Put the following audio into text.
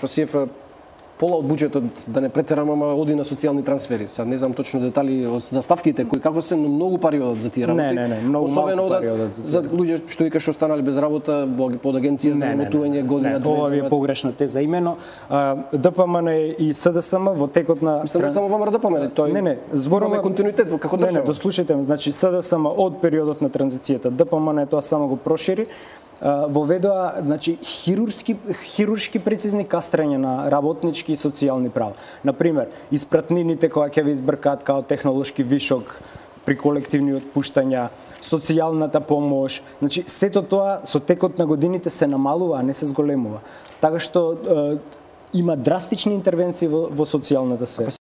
ПСФ пола од буџетот, да не претерам, ама оди на социјални трансфери. Сад не знам точно детали за ставките кои како се, но многу пари одат за тие работи. Не, многу малку пари одат за луѓе што викаш останали без работа под агенција за работување година две. Ова е погрешна теза. Имено ДПМН и СДСМ во текот на не само ВМРО ДПМН, тој зборуваме континуитет во како држава. Дослушајте, значи СДСМ од периодот на транзицијата, ДПМН тоа само го прошири, воведоа, значи, хируршки прецизни кастрања на работнички и социјални права. Например, испратнините кои ќе ви избркаат као технолошки вишок при колективни отпуштања, социјалната помош, значи сето тоа со текот на годините се намалува, а не се зголемува. Така што има драстични интервенции во социјалната сфера.